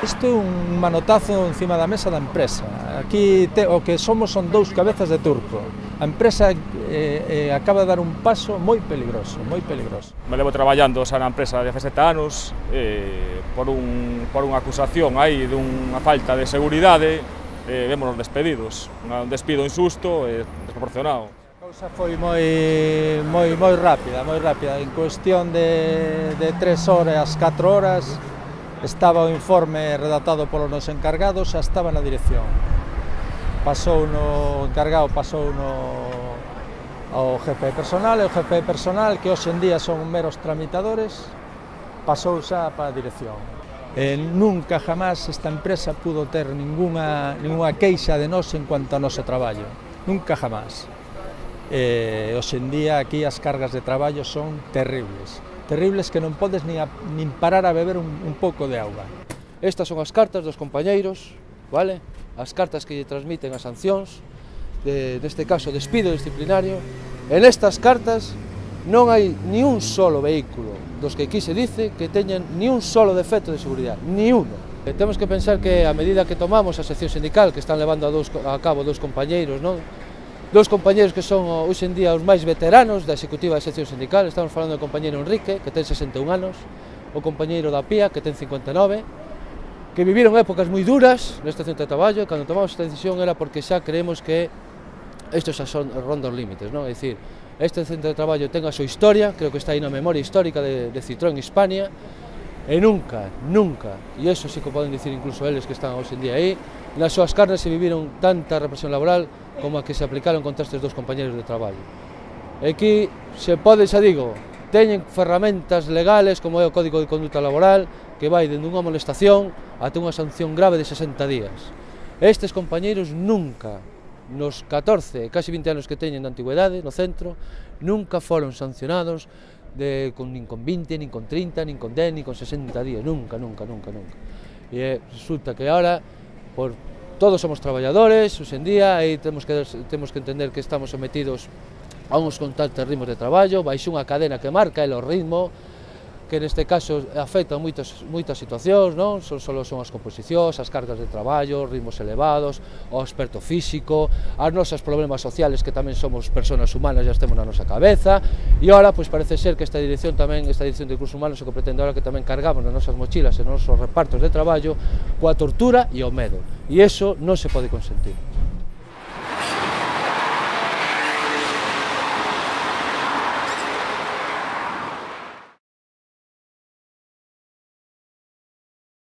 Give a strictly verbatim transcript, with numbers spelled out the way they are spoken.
Isto é un manotazo encima da mesa da empresa. Aquí te, o que somos son dous cabezas de turco. A empresa eh, eh, acaba de dar un paso moi peligroso, moi peligroso. Me levo traballando xa na empresa de dezasete anos eh, por, un, por unha acusación aí dunha falta de seguridade, eh, vémonos despedidos. Un despido injusto e desproporcionado. A cousa foi moi, moi, moi rápida, moi rápida. En cuestión de, de tres horas, catro horas, estaba o informe redactado polos nos encargados, xa estaba na dirección. Pasou no encargado, pasou no ao jefe de personal, e o jefe de personal, que hoxe en día son meros tramitadores, pasou xa para a dirección. E nunca jamás esta empresa pudo ter ninguna, ninguna queixa de nós en cuanto a noso traballo. Nunca jamás. E hoxe en día aquí as cargas de traballo son terribles. Terribles que non podes nin, a, nin parar a beber un, un pouco de auga. Estas son as cartas dos compañeiros, vale? As cartas que lle transmiten as sancións, de, neste caso despido disciplinario. En estas cartas non hai ni un solo vehículo dos que aquí se dice que teñan ni un solo defecto de seguridade, ni uno. E temos que pensar que a medida que tomamos a sección sindical, que están levando a, dos, a cabo dos compañeiros, non? Dos compañeiros que son hoxe en día os máis veteranos da executiva da sección sindical. Estamos falando do compañeiro Enrique, que ten sesenta e un anos, o compañeiro da Pía, que ten cincuenta e nove, que viviron épocas moi duras neste centro de traballo, e cando tomamos esta decisión era porque xa creemos que isto xa son ronda os límites, non? É dicir, este centro de traballo ten a súa historia, creo que está aí na memoria histórica de, de Citroën Hispania, e nunca, nunca, e iso sí que poden dicir incluso eles que están hoxe en día aí, nas súas carnes se viviron tanta represión laboral como a que se aplicaron contra estes dos compañeros de traballo. E aquí se pode, xa digo, teñen ferramentas legales como é o Código de Conduta Laboral, que vai dende unha molestación ata unha sanción grave de sesenta días. Estes compañeros nunca, nos catorce, casi vinte anos que teñen de antigüedade no centro, nunca foron sancionados de, con, nin con vinte, nin con trinta, nin con dez, nin con sesenta días, nunca, nunca, nunca, nunca. E resulta que ahora, por todos somos traballadores, hoxe en día, e temos que, temos que entender que estamos sometidos a uns constantes ritmos de traballo, baixo unha cadena que marca el o ritmo, que neste caso afecta moitas, moitas situacións, non? Son, solo son as composicións, as cargas de traballo, ritmos elevados, o aspecto físico, as nosas problemas sociales, que tamén somos personas humanas, já temos na nosa cabeza, e ahora, pois parece ser que esta dirección tamén, esta dirección de recursos humanos, o que pretende ahora que tamén cargamos nas nosas mochilas e nos nosos repartos de traballo coa tortura e o medo, e iso non se pode consentir.